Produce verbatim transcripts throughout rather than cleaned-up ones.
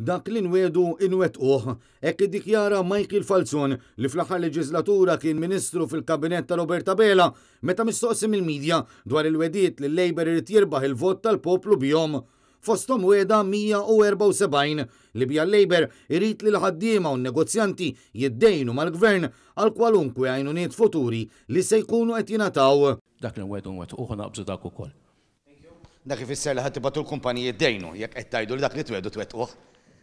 Dak li nwiegħdu inwettquh, hekk iddikjara Michael Falzon, li fl-aħħar leġislatura kien ministru fil-kabinett ta' Robert Abela, meta mistoqsi mill-medja dwar il-wegħdiet li l-Labour irid jirbaħ il-vot tal-poplu bihom. Fosthom wegħda mija u erbgħa u sebgħin li biha l-Labour irid li l-ħaddiema u n-negozjanti jiddejnu mal-gvern għal kwalunkwe għajnuniet futuri li se jkunu qed jingħataw. Dak li nwiegħdu nwettquh, naqbżu dak ukoll. Dak ifisser li ħa tibagħtu l-kumpaniji jiddejnu, jekk qed tgħidu li dak li twiegħdu twettquh.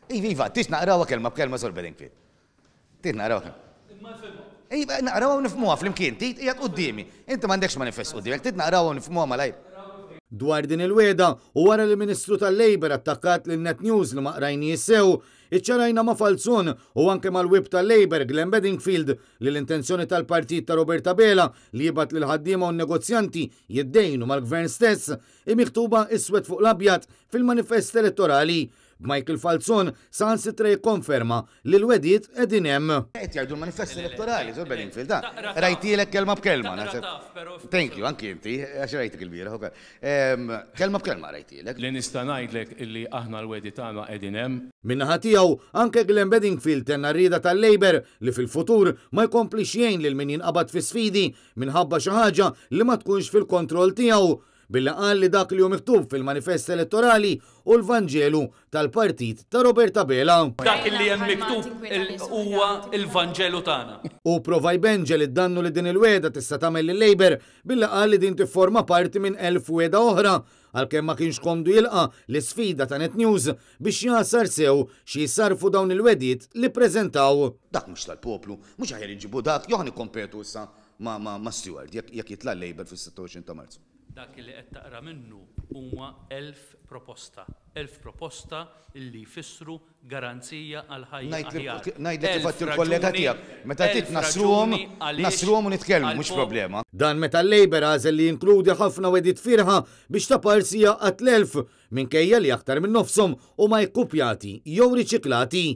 Iva, iva, trid naqrawha kelma b'kelma, Sur Bedingfield? Trid naqrawha kelma? Iva, naqrawha u nifhmuha flimkien, trid qiegħed quddiemi. Inti m'għandekx manifest quddiemek, trid naqrawha u nifhmuha malajr? Dwar din il-wegħda u wara li Ministru tal-Labour attakkat lil Net News li ma qrajniex sew, iċċarajna ma' Falzon u anke mal-whip tal-Labour Glenn Bedingfield li l-intenzjoni tal-partit ta' Robert Abela li jibgħat lil ħaddiema u negozjanti jiddejnu mal-gvern stess hi miktuba iswed fuq l-abjad fil-manifest elettorali. Michael Falzon saħansitra jikkonferma li l-wegħdiet qegħdin hemm. Qed jgħidu l-manifest elettorali, Sur Bedingfield, da. Qrajtilek kelma b'kelma. Thank you, anki inti, għax rajtek il-bieraħ. Kelma b'kelma qrajtilek. Li nista' ngħidlek illi aħna l-wegħdi tagħna qegħdin hemm. Min-naħa tiegħu anke Glenn Bedingfield tenna r-rieda tal-Labour li fil-futur ma jkomplix jgħin lil min jinqabad fi sfidi minħabba xi ħaġa li ma tkunx fil-kontroll tiegħu, billi qal li dak li hu miktub fil-manifest elettorali hu l-Vanġelu tal-partit ta' Robert Abela. Dak li hemm miktub huwa il-Vanġelu tagħna. U prova jbenġel id-dannu li din il-wegħda tista' tagħmel lil-Labour billi qal li din tifforma parti minn elf wegħda oħra, għalkemm ma kienx komdu jilqa l-isfida ta' Net News biex jagħsar sew xi jsarfu dawn il-wegħdiet li preżentaw. Dak mhux tal-poplu, mhux aħjar inġibu dak, jew nikkompetu issa ma' ma' Steward jekk jitla' Labour fis-sitta u għoxrin ta' Marzu? Dak li qed taqra minnu huma elf proposta. Elf proposta illi jfissru garanzija għal ħajja aħjar. Ngħidlek kif il-kollega tiegħek, meta trid nassruhom, nassruhom u nitkellmu, mhux problema. Dan meta l-Labour għażel li jinkludi ħafna wegħdiet fiergħa biex taparsi jgħaqqad l-elf, minkejja li aktar minn nofshom huma ikkupjati jew riċiklati.